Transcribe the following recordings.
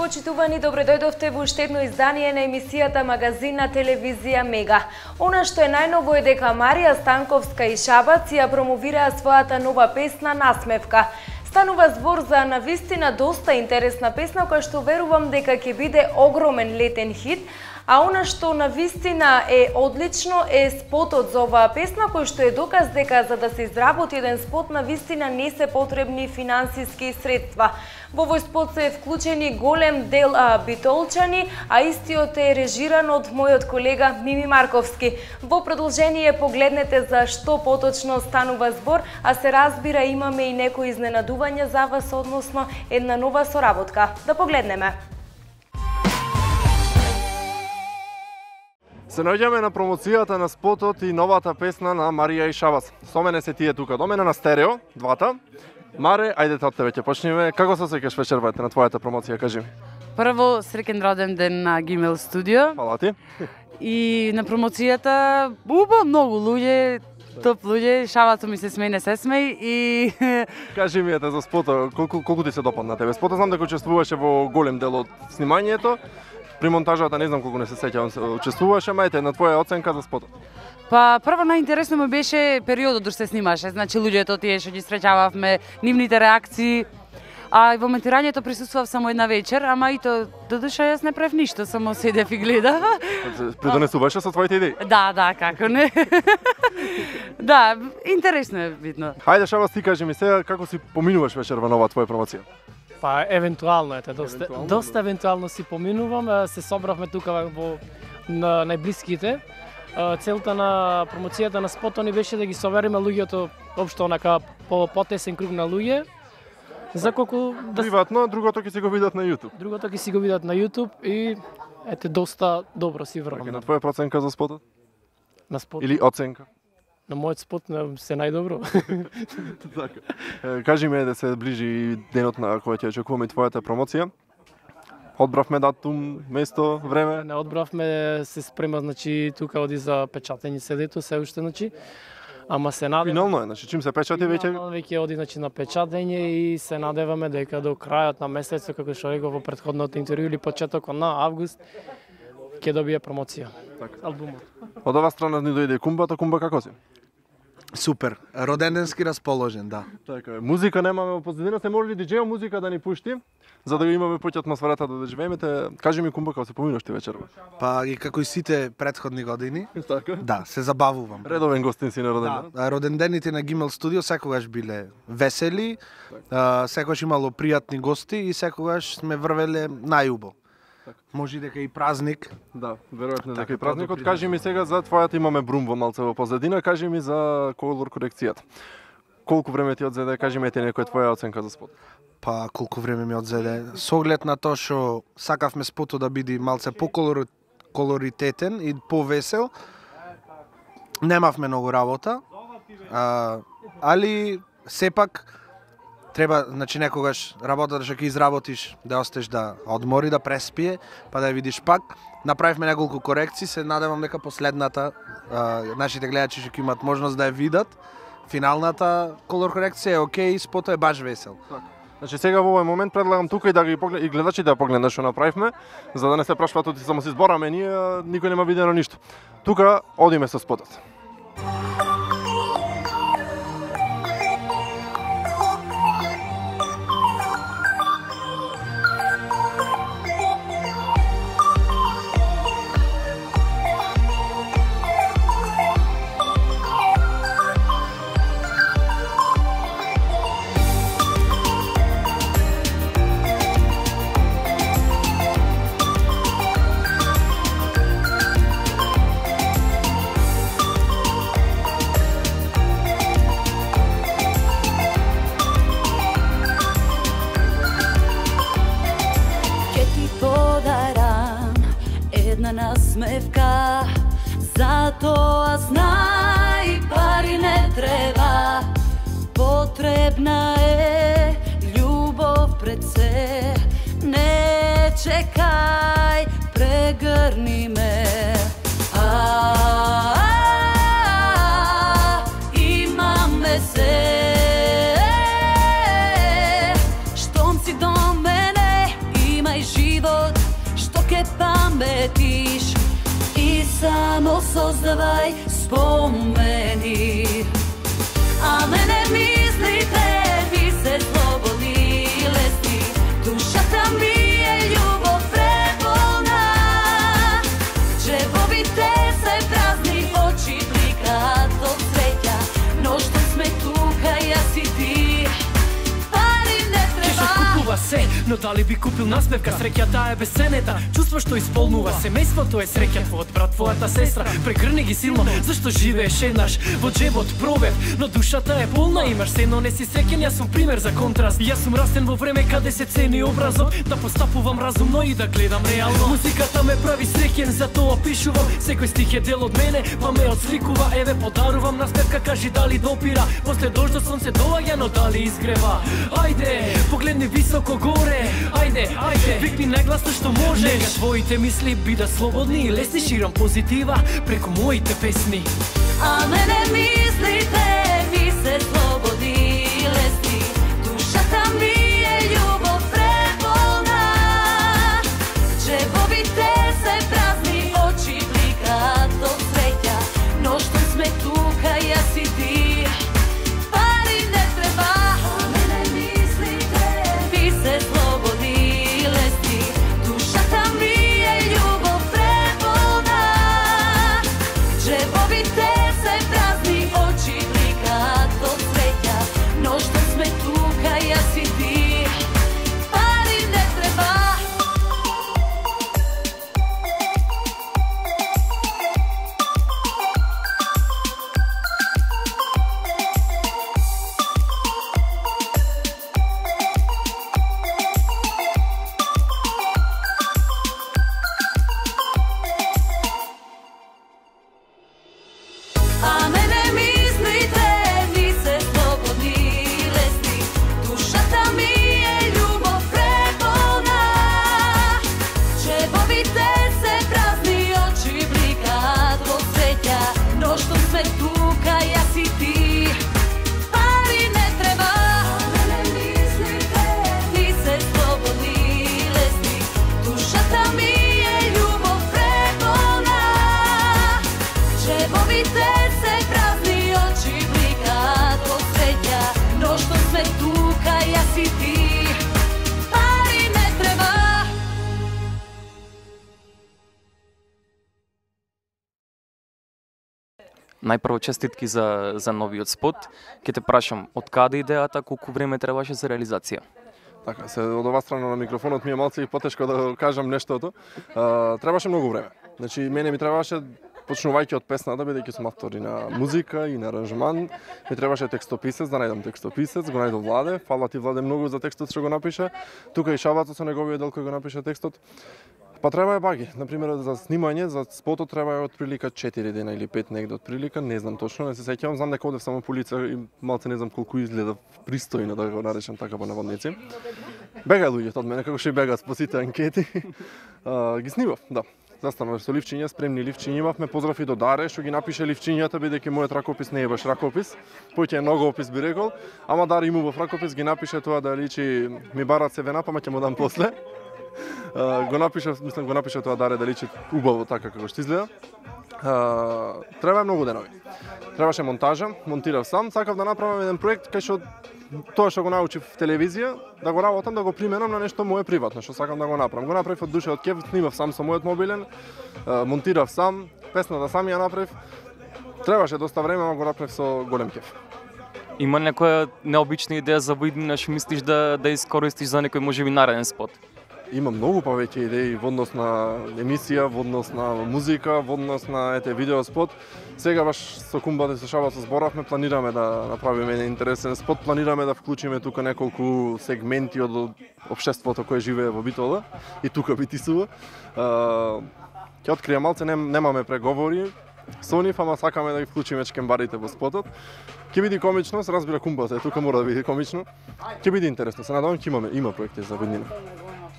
Почитувани, добредојдовте во уште едно издание на емисијата Магазин на телевизија Мега. Она што е најново е дека Марија Станковска и Шабац ја промовираа својата нова песна Насмевка. Станува збор за навистина доста интересна песна која што верувам дека ќе биде огромен летен хит. А она што навистина е одлично е спотот за оваа песна, кој што е доказ дека за да се изработи еден спот навистина не се потребни финансиски средства. Во овој спот се вклучени голем дел битолчани, а истиот е режиран од мојот колега Мими Марковски. Во продолжение погледнете за што поточно станува збор, а се разбира имаме и некои изненадувања за вас, односно една нова соработка. Да погледнеме. Се наоѓаме на промоцијата на спотот и новата песна на Марија и Шабац. Со мене се тие тука до мене на стерео, двата. Маре, ајдете од тебе ќе почнеме. Како се осеќаш вечервајте на твојата промоција, кажи ми? Прво, среќен роден ден на Гимел студио. Фала ти. И на промоцијата, многу луѓе, топ луѓе, Шабацо ми се смеј, не се смеј и... Кажи ми за спотот, колку ти се допадна тебе? Спотот знам дека учествуваше во голем дел од снимањето. При монтажата не знам колку не се сеќавам, учествуваше, мајте на твоја оценка за спотот. Па прво најинтересно ми беше периодот док се снимаше, значи луѓето тие што ги среќававме, нивните реакции. А во монтирањето присуствував само една вечер, ама и то додуша јас не правев ништо, само седев и гледав. Придонесуваше со твоите идеи? Да, како не. Да, интересно е видно. Хајде Шабац, ти кажи ми сега како си поминуваш вечерва нова твоја промоција? Па евентуално доста евентуално си поминувам, се собравме тука во на најблиските. Целта на промоцијата на спотот ни беше да ги собереме луѓето општо онака по потесен круг на луѓе. За колку приватно, другото ќе си го видат на YouTube. Другото ќе си го видат на YouTube и ете доста добро си врвам. На твоја проценка за спотот? На спот. Или оценка? На мојот спот се најдобро. Така. Кажи ми да се ближи денот на кој ќе очекуваме твојата промоција. Одбравме датум, место, време? Не одбравме, се спрема, значи тука оди за печатење седето, се уште, значи. Ама се надеваме. Финално е, значи чим се печати веќе? Финално веќе оди значи на печатење и се надеваме дека до крајот на месецот, како што реков во претходното интервју или почетокот на август, ќе добие промоција. Така. Албумот. Од оваа страна ни дојде Кумбата, Кумба како си? Супер, роденденски расположен, да. Така е. Музика немаме во позадина, се може ли диџејо музика да ни пушти, за да имаме поќе атмосферата да доживееме. Кажи ми Кумба како се поминуваш ти вечерва? Па и како и сите претходни години. Така? Да, се забавувам. Редовен гостин си на роденден. Да, родендените на Гимел студио секогаш биле весели, секогаш имало пријатни гости и секогаш сме врвеле најубо. Може дека и празник. Да, веројатно дека и празникот. Кажи ми сега за твојата, имаме брум во малце во позадина, кажи ми за колор корекцијата. Колку време ти одзеде, кажи ми некоја твоја оценка за спот? Па колку време ми одзеде. Со оглед на тоа што сакавме спотот да биде малце поколоритетен и повесел, немавме многу работа, али сепак треба, значи некогаш работата што ќе изработиш да остеш да одмори, да преспие, па да ја видиш пак. Направивме неколку корекции, се надевам дека последната нашите гледачи што ќе имат можност да ја видат. Финалната колор корекција е окей, спотот е баш весел. Значи сега во овој момент предлагам тука и да ги и гледачите да погледнат што направивме, за да не се прашуваат оти само се збораме, ние никој нема видено ништо. Тука одиме со спотот. Насмевка, затоа знај пари не треба, потребна е љубов пред се, не чекај, прегрни ме. Имаме се, штом си до мене, имај живот. samo sozdawaj spomeni. A mene mislite, vi se slobodni lesti, duša tam mi je ljubav prepolna. Džebovite se prazni, oči blika do cveća, no što sme tuka, ja si ti, pari ne treba. Купува се, но дали би купил насмевка? Среќата е бесценета, чувство што исполнува семејството е среќа. Твојот брат, твојата сестра, прегрни ги силно, зашто живееш еднаш во джебот пробев, но душата е полна, имаш се, но не си среќен. Јас сум пример за контраст. Јас сум растен во време каде се цени образот, да постапувам разумно и да гледам реално. Музиката ме прави среќен, затоа пишувам. Секој стих е дел од мене, па ме отсликува. Еве подарувам насмевка, кажи дали допира. После дождот сонце доаѓа, но дали изгрева. Ајде, погледни високо горе. Ајде, ајде, викни најгласно што можеш. Нека твоите мисли бидат слободни и лесни, ширам позитива преку моите песни. А мене мислите, ви се слободни и лесни, душата ми е љубов преполна. Джебовите се празни, очи бликат од среќа, но што сме тука, јас и ти, пари не треба. А мене мислите, ви се слободни и лесни, душата ми е љубов преполна. Джебовите се празни, очи бликат од среќа, но што сме тука, јас и ти, пари не треба. А мене мислите, ви се слободни и лесни, душата ми е љубов преполна. Джебовите се празни, очи бликат во среќа, но што сме тука, јас и ти, пари не треба. А мене мислите, ви се слободни и лесни, душата ми е љубов преполна. Джебовите се празни, очи бликат во среќа, но што сме тука, јас и ти, пари не треба. Најпрво честитки за новиот спот. Ке те прашам, од каде идејата, колку време требаше за реализација? Така, се од оваа страна на микрофонот ми е малку потешко да кажам нештото. Требаше многу време. Значи, мене ми требаше, почнувајќи од песната, бидејќи сум автор и на музика и на аранжман, ми требаше текстописец, да најдам текстописец, го најдов Владе, фала ти Владе многу за текстот што го напише. Тука и Шабаца со неговиот дел кој го напише текстот. Па треба е баги. Например, за снимање, за спотот треба е отприлика 4 дена или 5 негде отприлика, не знам точно, не се сеќавам, знам дека одев само по лице и малце не знам колку изгледа пристојно да го наречам така по наводници. Бега луѓето од мене, како што и бегаат по сите анкети. Ги снимав, да. Застанав со ливчиња, спремни ливчиња имавме, поздрав и до Даре, што ги напише ливчињата, бидејќи мојот ракопис не е баш ракопис, поќе е ногоопис би рекол, ама Даре имував ракопис, ги напише тоа да личи ми барат се вена, па ќе му дам после. Го напиша тоа Даре да личи убаво така како што изгледа. Треба многу денови. Требаше монтажа, монтирав сам, сакав да направам еден проект кај што тоа што го научив в телевизија, да го работам, да го применам на нешто мое приватно, што сакам да го направам. Го направив од душа, од кеф, снимав сам со мојот мобилен, монтирав сам, песната сам ја направив. Требаше доста време, ама го направив со голем кеф. Има некоја необична идеја за во иднина што мислиш да искористиш за некој можеби нареден спот? Има многу повеќе идеи во однос на емисија, во однос на музика, во однос на видеоспот. Сега баш со Кумбата и со Шабаца зборавме, планираме да направиме еден интересен спот, планираме да вклучиме тука неколку сегменти од општеството кое живее во Битола и тука Битисува. Ќе откријам малце, немаме преговори со нив, ама сакаме да ги вклучиме чкембарите во спотот. Ќе биде комично, се разбира Кумбата, тука мора да биде комично. Ќе биде интересно, се надевам ќе има проекти за виднина.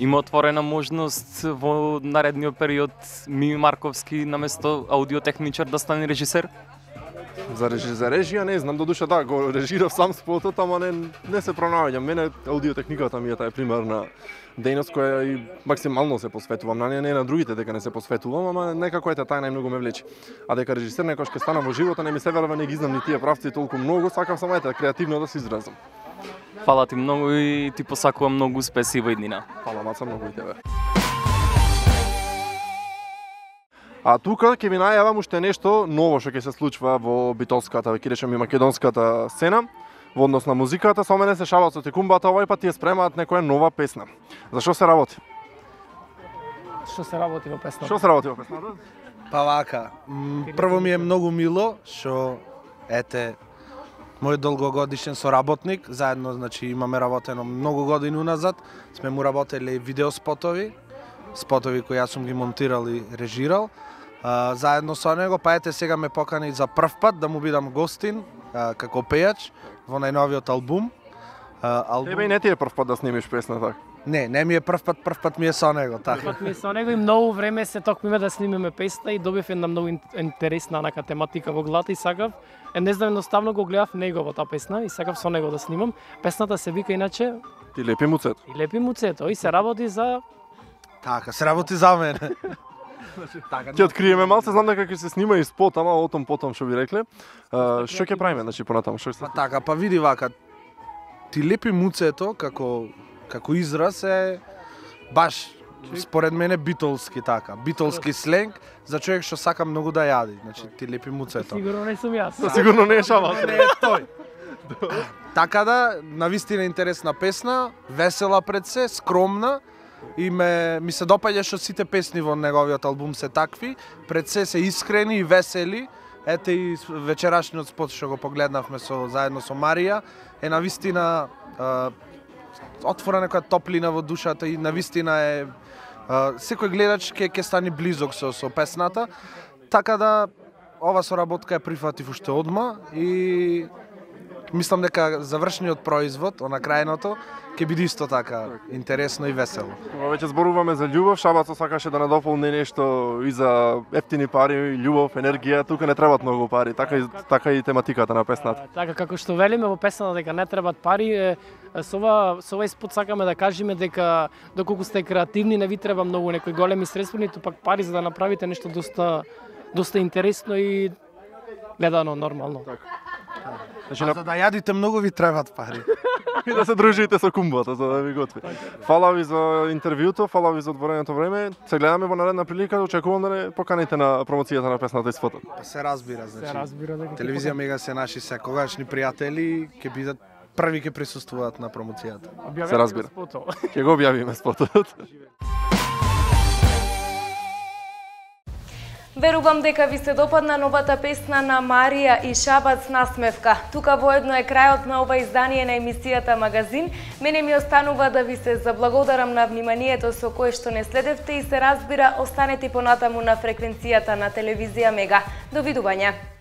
Има отворена можност во наредниот период Мими Марковски наместо аудиотехничар да стане режисер? За режија не знам, додуша да, го режирав сам спотот, ама не се пронаоѓам. Мене аудиотехниката ми е таа примерна дејност која и максимално се посветувам на неа, не на другите дека не се посветувам, ама некако ете таа најмногу ме влече. А дека режисер некош ќе станам во живота, не ми се верува, не ги знам ни тие правци толку многу, сакам само креативно да се изразам. Фала ти многу и ти посакувам многу успеси во иднина. Фала Маца, многу и тебе. А тука ќе ви најавам уште нешто ново што ќе се случува во битолската, ќе речем и македонската сцена. Во однос на музиката, со мене се Шабацот и Кумбата, овој пат ја спремаат некоја нова песна. За што се работи? Што се работи во песната? Што се работи во песната? Па вака, прво ми е многу мило што мој долгогодишен соработник, заедно значи имаме работено многу години уназад, сме му работеле видеоспотови, спотови кои јас сум ги монтирал и режирал. Заедно со него, па сега ме покани за прв пат да му бидам гостин како пејач во најновиот албум. Тебе и не ти е прв пат да снимиш песна така? Не ми е прв пат ми е со него, така. Прв пат ми е со него и многу време се токмиме да снимеме песна и добив една многу интересна онака тематика во главата и сакав. Не знам, едноставно го гледав неговата песна и сакав со него да снимам. Песната се вика иначе Ти лепи муцето. И лепи муцето и се работи за Така, се работи за мене. Ќе откриеме малце, знам дека ќе се снима и спот, ама о том потом што ви рекле. Што ќе правиме, значи понатаму, што се? Па така, па види вака. Ти лепи муцето како израз е баш според мене битолски така. Битолски сленг за човек што сака многу да јади. Значи ти лепи муцето. Сигурно не сум јас. Сигурно не е Шабац. Не е тој. Така да, навистина интересна песна, весела пред се, скромна. И ми се допаѓа што сите песни во неговиот албум се такви, пред се искрени и весели. Ете и вечерашниот спот што го погледнавме заедно со Марија, е навистина отвора некоја топлина во душата и навистина е секој гледач ќе стане близок со песната. Така да ова соработка ја прифатив уште одма и мислам дека завршниот производ, на крајното, ќе биде исто така интересно и весело. Кога веќе зборуваме за љубов, Шабацот сакаше да надополни нешто и за ефтини пари, љубов, енергија, тука не требаат многу пари, така и тематиката на песната. Така како што велиме во песната дека не требаат пари, со овој спот сакаме да кажеме дека доколку сте креативни не ви треба многу некои големи средства, ниту пак пари за да направите нешто доста интересно и гледано нормално. Значи, за да јадите многу ви требаат пари. И да се дружите со Кумбата, за да ви готви. Фала ви за интервјуто, фала ви за одвореното време. Се гледаме во наредна прилика, очекувам да не поканите на промоцијата на песната и спотот. Се разбира, значи. Се разбира дека Телевизија Мега се наши секогашни пријатели, ќе бидат први ќе присуствуваат на промоцијата. Се разбира. Ќе го објавиме спотот. Верувам дека ви се допадна новата песна на Марија и Шабац Насмевка. Тука воедно е крајот на ова издание на емисијата Магазин. Мене ми останува да ви се заблагодарам на вниманието со кое што не следевте и се разбира, останете понатаму на фреквенцијата на телевизија Мега. Довидување.